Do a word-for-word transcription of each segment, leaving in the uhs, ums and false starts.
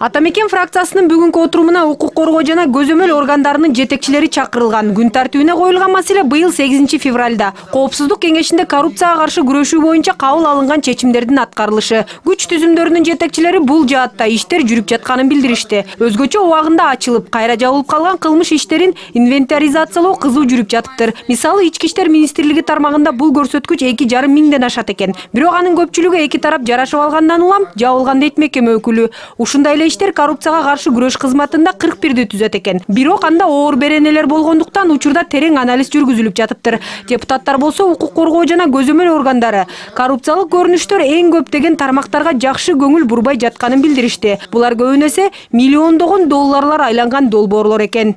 Атамекен фракциясынын бүгүнкү отурумуна укук коргоо жана көзөмөл органдарынын жетекчилери чакырылган. Күн тартибине коюлган маселе быйыл сегизинчи февралда Коопсуздук кеңешинде коррупцияга каршы күрөшүү боюнча кабыл алынган чечимдердин аткарылышы. Күч түзүмдөрүнүн жетекчилери бул жаатта иштер жүрүп жатканын билдиришти. Өзгөчө убагында ачылып, кайра жабылып калган кылмыш иштерин инвентаризациялоо кызуу жүрүп жатыптыр. Мисалы, Ички иштер министрлиги тармагында бул көрсөткүч эки жарым миңден ашат экен. Бирок анын көпчүлүгү эки тарап жарашып алгандан улам жабылган дейт мекеме өкүлү. Ушундай эле иштер коррупцияга каршы күрөш кызматында кырк бирди түзөт экен. Бирок анда оор беренелер болгондуктан учурда терең анализ жүргүзүлүп жатыптыр. Депутаттар болсо укук коргоо жана көзөмөл органдары коррупциялык көрүнүштөр эң көп деген тармактарга жакшы көңүл бурбай жатканын билдиришти. Булар көбүн эсе миллиондогон долларлар айланган долбоорлор экен.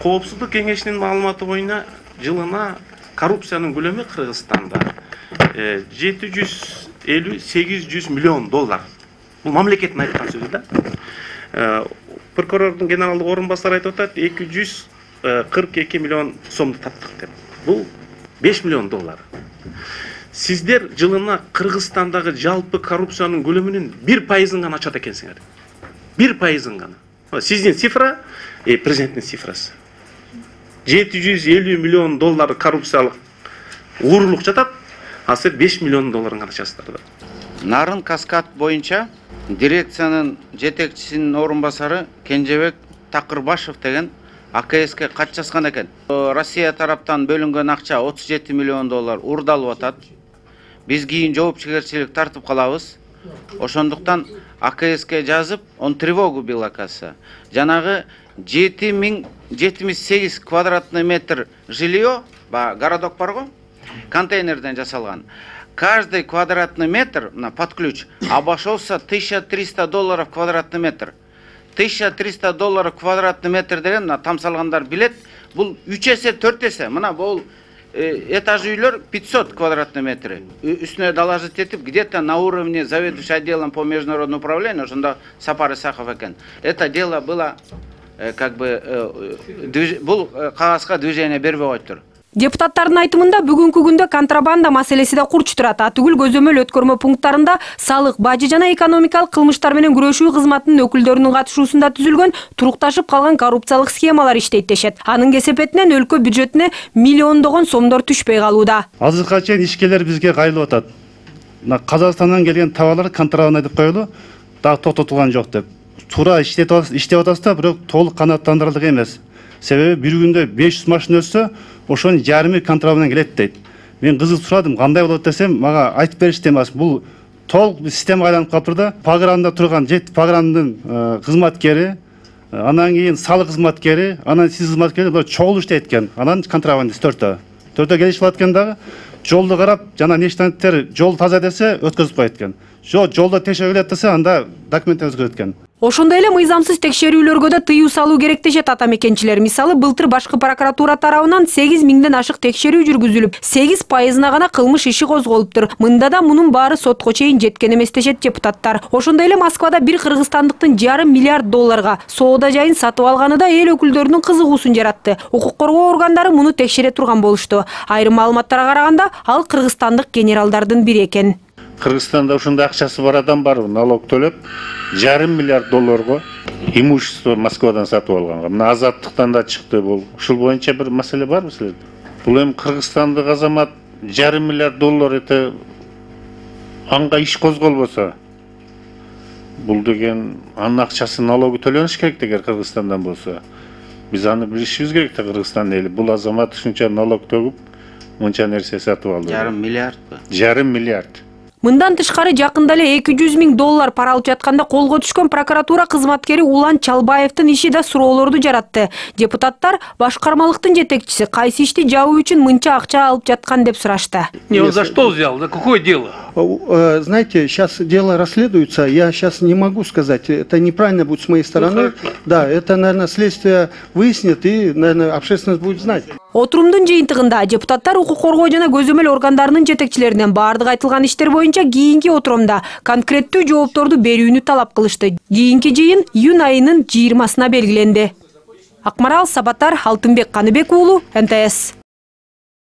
Коопсуздук кеңешинин маалыматы боюнча жылына коррупциянын көлөмү Кыргызстанда жети жүз элүү сегиз жүз миллион доллар. Бул мамлекеттин айткан сөзү да. Прокурордун генералдык орун басары айтып атат, эки жүз кырк эки миллион сомду таптык деп. Бул беш миллион доллар. Сиздер жылына Кыргызстандагы жалпы коррупциянын көлөмүнүн бир пайызын гана ачат экенсиңер. бир пайызын гана. Сиздин цифра, э, президенттин цифрасы. жети жүз элүү миллион доллар коррупциялык уурулук жатат, а силер беш миллион долларын гана ачасыздар. Нарын Каскад боюнча дирекциянын жетекчисинин орун басары Кенжебек Такырбашев деген А К Ске кат жазган экен. Россия тараптан бөлүнгөн акча отуз жети миллион доллар урдалып атат. Биз кийин жоопкерчилик тартып калабыз. Ошондуктан А К Ске жазып, он тревогу бил акасы. Жанагы жети миң жетимиш сегиз квадратный метр жилье, ба городок барго, контейнерден жасалган. Каждый квадратный метр на под ключ обошелся тысяча триста долларов квадратный метр. тысяча триста долларов квадратный метр деген там салгандар билет. Бул үч эсе, төрт эсе. Мына бул этаж үйлөр пятьсот квадратный метр. Үстүнө доложить этип, где-то на уровне заведующий отделом по международному управлению, ошондо Сапар Исахов экен. Это дело было как бы бул кагазга движение бербей коюптур. Депутаттардын айтымында бүгүнкү күндө контрабанда маселеси да курч турат. Атүгүл көзөмөл өткөрмө пункттарында салык, бажы жана экономикалык кылмыштар менен күрөшүү кызматынын өкүлдөрүнүн катышуусунда түзүлгөн турукташып калган коррупциялык схемалар иштейт дешет. Анын кесепетинен өлкө бюджетине миллиондогон сомдор түшпөй калууда. Азыркыга чейин ишкерлер бизге кайрылып атат. Казакстандан келген товарлар контрабанда деп коюлу, дагы токтотулган жок деп. Туура иштеп атасыз да, бирок толук канааттандырылдык эмес. Себеби бир күндө беш жүз машина өтсө, ошонун жарымы контрабандадан келет дейт. Мен кызык сурадым, кандай болот десем, мага айтып беришти эмес. Бул толук система айланып калыптыр да. Пагранда турган жет паграндын кызматкери, анан кийин салык кызматкери, анан сиз кызматкери булар чогуу иштейт экен. Анан контрабандист төртөө. Төртөө келишип алат экен дагы. Жолду карап, жана нештенттер жол таза десе өткөзүп коет экен. Жок, жолдо текшерүү келет десе, анда документтер өзгөрөт экен. Ошондой эле мыйзамсыз текшерүүлөргө да тыюу салуу керек дешет атамекенчилер. Мисалы, былтыр башкы прокуратура тарабынан сегиз миңден ашык текшерүү жүргүзүлүп, сегиз пайызына гана кылмыш иши козголуптур. Мында да мунун баары сотко чейин жеткен эмес дешет депутаттар. Ошондой эле Москвада бир кыргызстандыктын жарым миллиард долларга соода жайын сатып алганы да эл өкүлдөрүнүн кызыгуусун жаратты. Укук коргоо органдары муну текшере турган болушту. Айрым маалыматтарга караганда, ал кыргызстандык генералдардын бири экен. Кыргызстанда ушундай акчасы бар адам бар, налог төлөп, жарым миллиард долларга имущество Москвадан сатып алганга. Мына Азаттыктан да чыкты бул. Ушул боюнча бир маселе барбы силерде? Бул эми Кыргызстандык азамат жарым миллиард доллар эте анга иш козголбосо, бул деген анын акчасы налогу төлөнүш керек деген Кыргызстандан болсо. Биз аны билишибиз керек да, Кыргызстан эли. Бул азамат ушунча налог төгүп, мынча нерсе сатып алды. Жарым миллиард. Жарым миллиард. Мындан тышкары жакында эле эки жүз миң доллар пара алып жатканда колго түшкөн прокуратура кызматкери Улан Чалбаевдин иши да суроолорду жаратты. Депутаттар башкармалыктын жетекчиси кайсы ишти жабуу үчүн мынча акча алып жаткан деп сурашты. Не, он за что взял? За какое дело? Знаете, сейчас дело расследуется, я сейчас не могу сказать, это неправильно будет с моей стороны. Ну, да, это, наверное, следствие выяснит и, наверное, общественность будет знать. Отурумдун жыйынтыгында депутаттар укук коргоо жана көзөмөл органдарынын жетекчилеринен баардык айтылган иштер боюнча кийинки отурумда конкреттүү жоопторду берүүнү талап кылышты. Кийинки жыйын июнь айынын жыйырмасына белгиленди. Акмарал Сабатар, Алтынбек Каныбек уулу, Н Т С.